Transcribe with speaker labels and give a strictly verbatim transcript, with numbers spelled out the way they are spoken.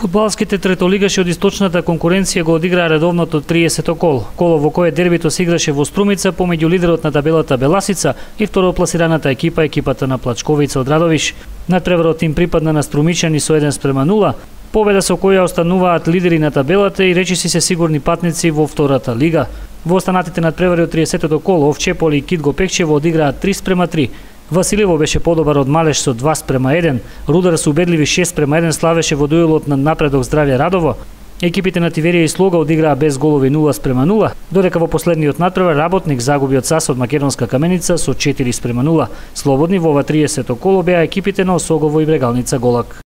Speaker 1: Фудбалските третолигаши од источната конкуренција го одиграа редовното триесето кол. Коло во кое дербито се играше во Струмица помеѓу лидерот на табелата Беласица и второпласираната екипа, екипата на Плачковица од Радовиш. Надпреварот им припадна на струмичани со еден спрема нула, победа со која остануваат лидери на табелата и речиси се сигурни патници во втората лига. Во останатите надпревари од триесетото кол Овчеполи и Китго Пекчево одиграат три спрема три. Василево беше подобар од Малеш со два спрема еден, Рудар со убедливи шест спрема еден славеше во дуелот на Напредок Здравје Радово. Екипите на Тиверија и Слога одиграа без голови нула спрема нула, додека во последниот надпревар Работник загуби од САС од Македонска Каменица со четири спрема нула. Слободни во ова триесето коло беа екипите на Осогово и Брегалница Голак.